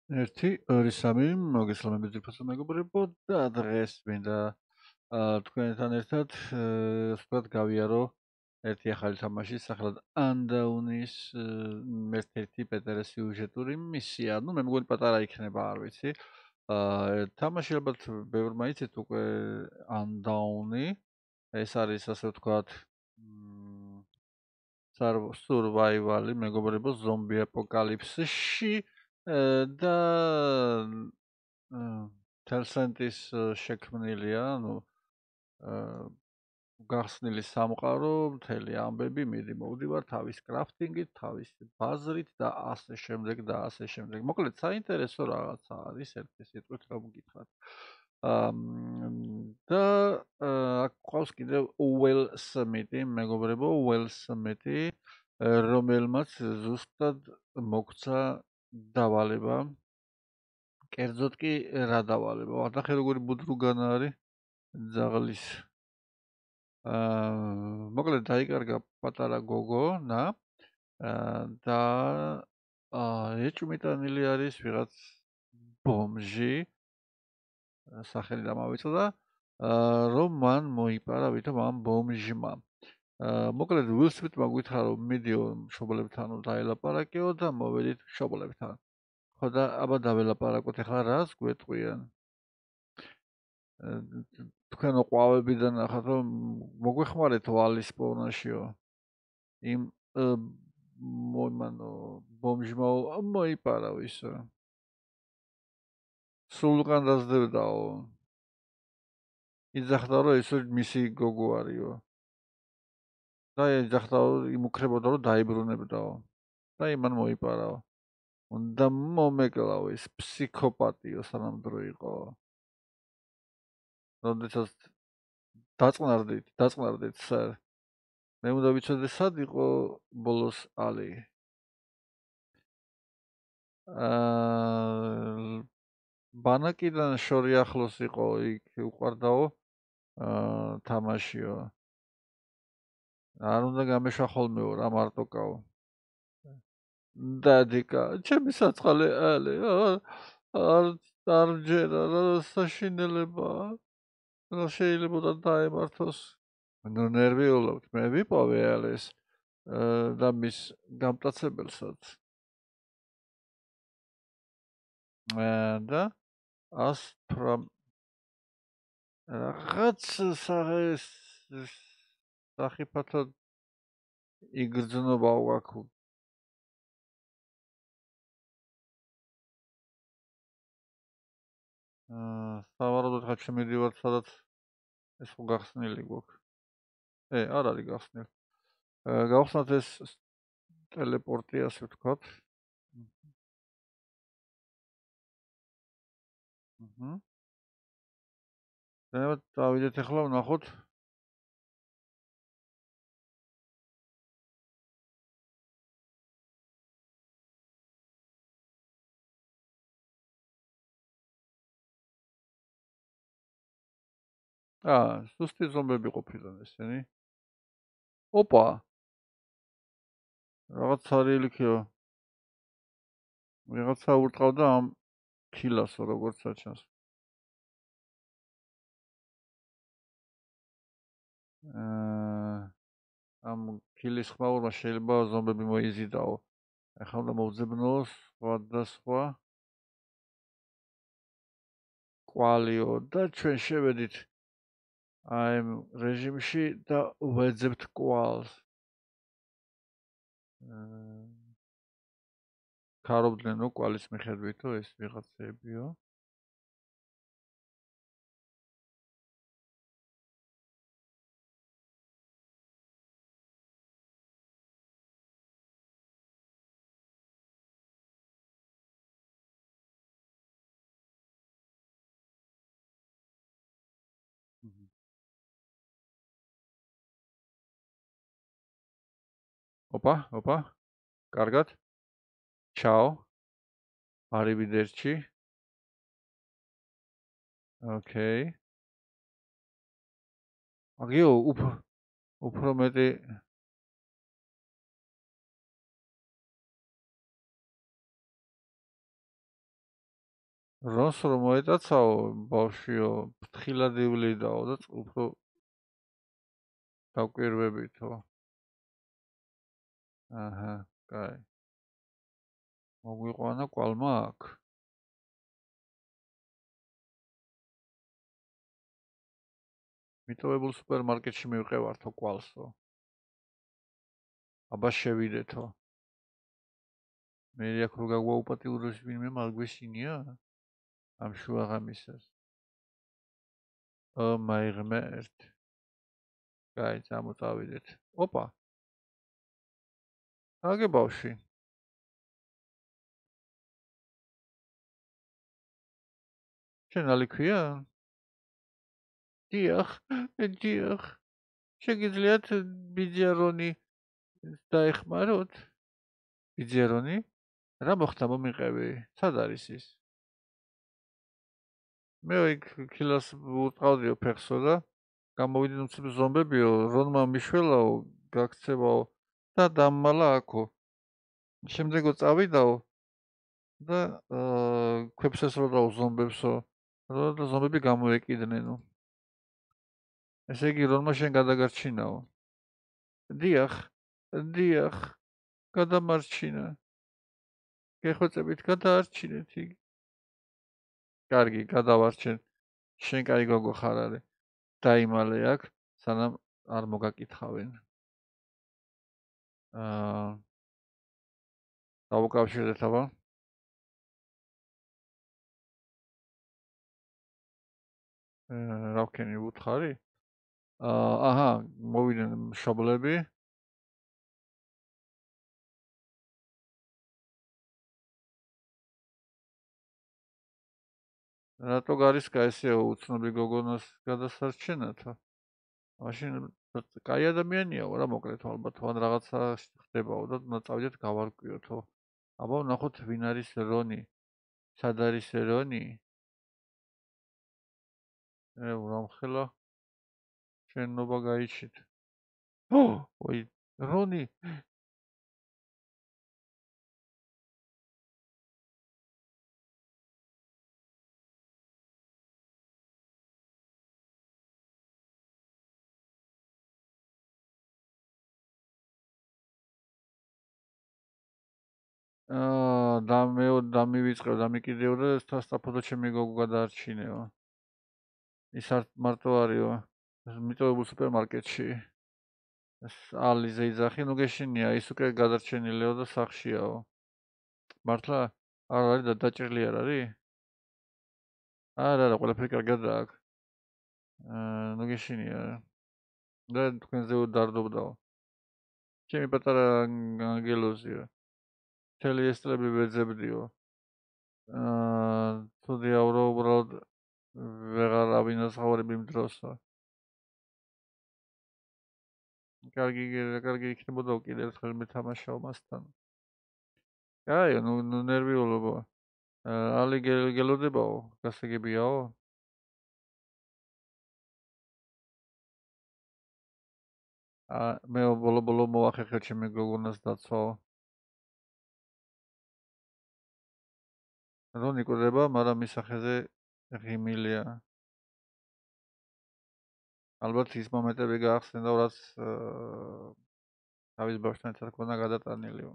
1, 2, 3 მოგესალმებით ძვირფასო მეგობრებო და დღეს მინდა თქვენთან ერთად ვთქვათ გავიარო ერთი ახალი თამაში სახელად Undownis ერთ-ერთი პეტერე სიუჟეტური მისია. მე მგონი პატარა იქნება, არ ვიცი. თამაში ალბათ ბევრმა იცით უკვე Undowni. ეს არის ასე ვთქვათ survival-ი მეგობრებო ზომბი აპოკალიფსში და Tencent-ის შექმნილია, გახსნილი სამყარო, მთელი ამბები, მიდი მოვდივარ თავის კრაფტინგით, თავის ბაზრით და ასე შემდეგ და ასე შემდეგ. მოკლედ საინტერესო რაღაცა არის ერთი სიტყვით რომ გითხრათ. და აქ ყავს კიდევ Will Smith-ი, მეგობრებო, Will Smith-ი, რომელმაც ზუსტად მოგცა დავალება. კერძოდ კი რა დავალება? ნახე როგორი ბუდრუგანა არის ძაღლის. მოკლედ დაიკარგა პატარა გოგონა და ეჭვმიტანილი არის ვიღაც ბომჟი, სახელი დამავიწყდა, რომ მან მოიპარა ვითომ ამ ბომჟმა. მოკლედ Will Smith-მა გითხრა რომ მიდიო მშობლებთან დაელაპარაკეო და მოვედით მშობლებთან. ხო და აბა დაველაპარაკოთ, ახლა რას გვეტყვიან? თქვენო ყვავებიდან ნახოთ რომ მოგვეხმარეთ ვალის პოვნაშიო. იმ მომანო ბომჟმა მოიპარა ვისო. სულყან დაძდებდაო. იძახდა რომ ეს მისი გოგო არისო. და იძახდა რომ იმუქრებოდა რომ დაიბრუნებდაო. და იმან მოიპარაო. უნდა მომეკლავ ეს ფსიქოპატიო სანამდრო იყო. როდესაც დაწყნარდით სერ. მე უნდა ვიცოდე სად იყო ბოლოს ალი. ბანაკიდან შორი ახლოს იყო, იქ უყარდაო თამაშიო. არ უნდა გამეშვა ხოლმეო რა მარტოკაო. დადიკა, ჩემი საწყალე ალი, არ ჯერა რა საშინელება. რა შეიძლება დაემართოს. ნუ ნერვიულობთ, მე ვიპოვე ალის და მის გამტაცებელსაც. და 100 რაღაც სახიფათო იგრძნობა ვაკუ. სავარაუდოდ ხა შემიდივართ სადაც ეს ხო გახსნილი გვაქვს. არ არის გახსნილი. გავხსნათ ეს ტელეპორტი, ასე ვთქვათ. დავიდეთ ახლა ვნახოთ. სუსტი ზომბები ყოფილან ესენი. ოპა. რაღაც არილიქიო. ვიღაცა ურტყავდა ამ ქილასო, როგორც აჩანს. ამ ქილის ხმაურმა შეიძლება ზომბები მოიზიდაო. ახლა უნდა მოვძებნოს სხვადასხვა კვალიო და ჩვენ შევედით აი რეჟიმში და ვეძებთ კვალს. ქარობდნენ კვალის მიხედვითო ეს ვიღაცებიო. ოპა. კარგად. ჩაო. არივიდერჩი. ოკეი. აგიო უფრო მეტი რონს რომ მოეტაცაო ბავშვიო, ფრთხილად ივლიდაო და უფრო დაკვირვებითო. აჰა, კაი. მოგვიყვანა კვალმა აქ. მიტოვებულ სუპერმარკეტში მივყევართო კვალსო. აბა შევიდეთო. მე აქ რო გაგვაუპატიუროს ვინმე მაგგვეშინია? ამ შუაღამისას. მაი ღმერთ. კაი, წამოწავიდეთ. ოპა. აგე ბავშვი. შენ ალიქვია? დიახ, დიახ. შეგიძლიათ ბიძიარონი დაეხმაროთ? ბიძიარონი? რა მოხდა მომიყევი? სად არის ის? მე იქ ქილას უტყავდიო ფეხსო და გამოვიდნენ უცებ ზომბებიო, რონმა მიშველაო, გაქცევაო და დამმალა აქო. შემდეგო წავიდაო და ქვებს ესროდაო ზომბებსო. და ზომბები გამოეკიდნენო. ესე იგი რონმა შენ გადაგარჩინაო. დიახ, დიახ, გადამარჩინა. გეხვეწებით გადაარჩინეთ იგი. კარგი, გადავარჩენ. შენ კაი გოგო ხარ არე. დაიმალე აქ, სანამ არ მოგაკითხავენ. დავუკავშირეთ აბა. რა ვქენი უთხარი? აჰა, მოვიდნენ მშობლები. რატო გარისკა ესეო უცნობი გოგონას გადასარჩენათო? მაშინ კაი ადამიანიაო რა მოკლედ ალბათ ან რაღაცა ხდებაო და წავიდეთ გავარკვიოთო. აბა ვნახოთ ვინ არის რონი. სად არის რონი? ვრამხელა შენობა გაიჩით. ოი, რონი. დამივიწყებ, დამიკიდეო და სასტაფოდო ჩემი გოგო გადაარჩინეო. ის არ მარტო არისო, მიტოვებულ სუპერმარკეტში. ალიზე იძახი, ნუ გეშინია, ის უკვე გადარჩენილეო და სახშიაო. მართლა არ არის დაჭრილი არ არის? არა, ყველაფერი კარგადაა აქ. ნუ გეშინია. და თქვენზე დარდობდაო. ჩემი პატარა ანგელოზიო. მთელი ეს წლები ვეძებდიო. თუდიაო რომ უბრალოდ ვეღარ ავინაზღაურებ იმ დროსო. კარგი იქნებოდა კიდევ ერთხელ მეთამაშაო მასთან. კაი, ნუ ნერვიულობო. ალი გელოდებაო, გასაგებიაო? მე ბოლო მოახერხე ჩემი გოგონას დაცვაო. რონი კვდება, მაგრამ მის სახეზე ღიმილია. ალბათ ის მომენტები გაახსენდა, რაც თავის ბავშვთან ერთად ქონა გადატანილიო.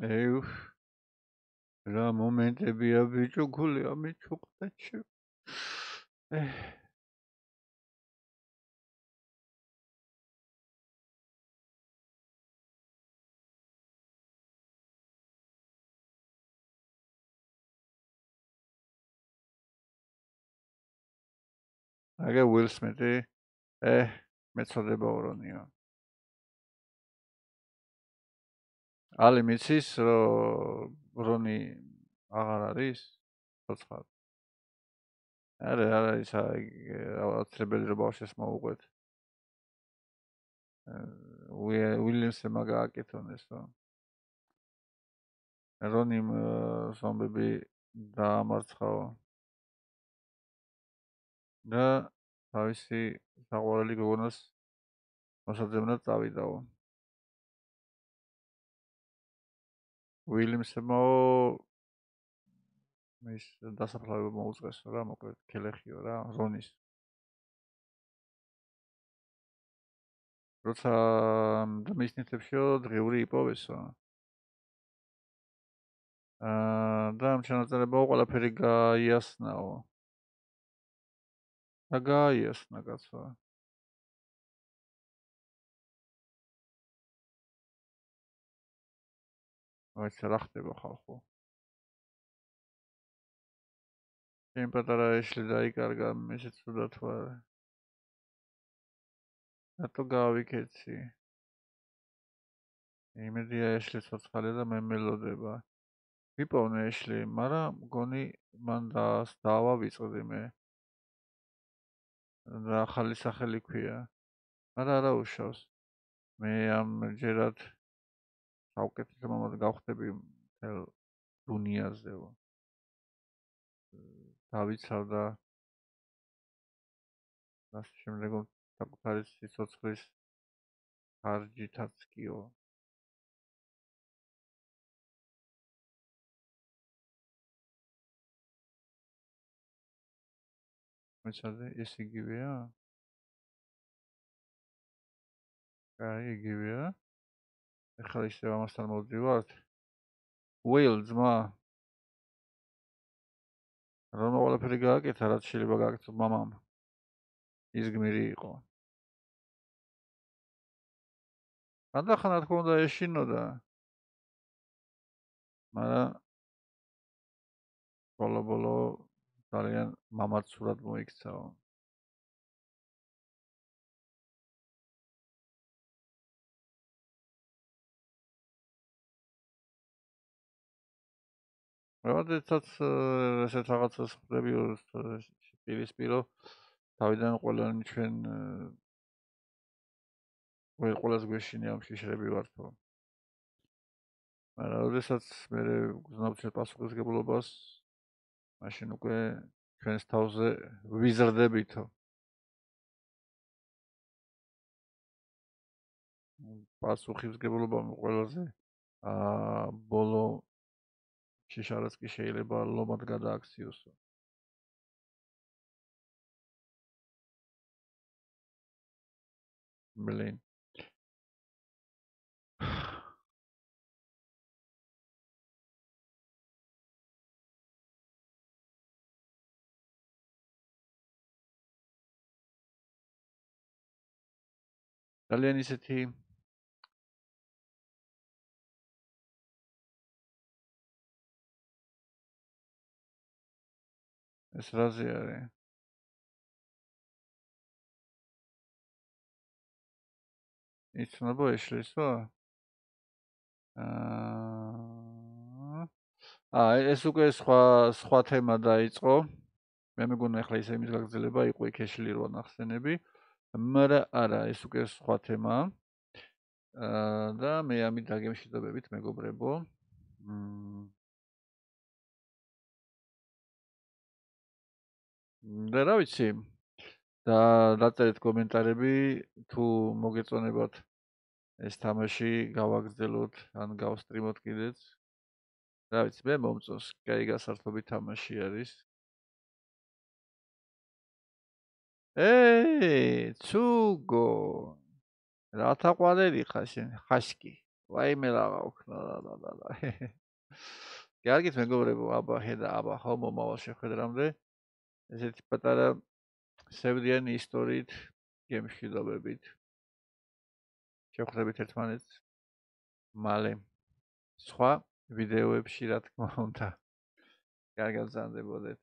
ეუ რა მომენტებია ბიჭო, გული ამიჩუყდა ჩემ. აგე უილ სმიტი. მეწოდებაო რონიო. ალი მიცის რომ რონი აღარ არის? ცოცხალ. არა ის აუცილებელი რომ ბავშვს მოუყვეთ. უილიამსმა გააკეთონ ესო. რონიმ ზომბები დაამარცხაო. და თავისი საყვარელი გოგონას მოსაძებნად წავიდაო. უილიამსმა ის დასაფლავება მოუწეს რა, მოკლედ ქელეხიო რა, რონის. როცა მისნითებშო დღიური იპოვესო. და ამ ჩანაწერებაო ყველაფერი გაიასნაო. და გაიასნა კაცო. ვაიც რა ხდება ხალხო. იმ პატარა ეშლი დაიკარგა ისეთ ცუდად თუ არა. რატო გავიქეცი? იმედია ეშლი ცოცხალია და მე მელოდება. ვიპოვნე ეშლი, მაგრამ მგონი მან დაავავიწყდი მე. და ახალი სახელი ქვია. მაგრამ არა უშავს. მე ამ ჯერად საუკეთესო მამად გავხდები მთელ დუნიაზეო. დავიცავდა მას შემდეგო საკუთარი სიცოცხლის ხარჯითაც კიო. მეცადე ეს იგივეა? აი იგივეა. ეხლა ისევ ამასთან მოვდივართ. უეილ ძმა. რომ ყველაფერი გააკეთა, რაც შეიძლება გააკეთოს მამამ. ის გმირი იყო. ხანდახან რა თქმა უნდა ეშინოდა. მაგრამ ბოლო ძალიან მამაცურად მოიქცაო. როდესაც ესეთ რაღაცას ხდები პირისპირო თავიდან ყველანი ჩვენ ყველას გვეშინია ამ შიშრები ვართო. მაგრამ როდესაც მე გზნობთ პასუხისგებლობას მაშინ უკვე ჩვენს თავზე ვიზრდებითო. პასუხისგებლობა ყველაზე ბოლო შიშარაც კი შეიძლება ლომად გადააქციოსო. მლინ. ძალიან ისეთი ეს რაზე არის? იცნობო ეშლისო? ეს უკვე სხვა თემა დაიწყო. მე მეგონა ახლა ისე იმის გაგრძელება იყო იქ ეშლი რო ნახსენები. მაგრამ არა, ეს უკვე სხვა თემაა. და მე ამით დაგემშვიდობებით მეგობრებო. და რა ვიცი? და დაწერეთ კომენტარები თუ მოგეწონებათ ეს თამაში გავაგრძელოთ ან გავსტრიმოთ კიდეც. რა ვიცი, მე მომწონს, კაი გასართობი თამაში არის. ცუგო. რათა ყვადელი ხარ შენ, ხაშკი. ვაიმე რაღა ოქნა და. კარგით მეგობრებო, აბა ხედა, აბა ხო მომავალ შეხვედრამდე. ესეთი პატარა სევდიანი ისტორიით გემშვიდობებით. შევხვდებით ერთმანეთს მალე. სხვა ვიდეოებში რა თქმა უნდა. კარგად გრძანდებოდეთ.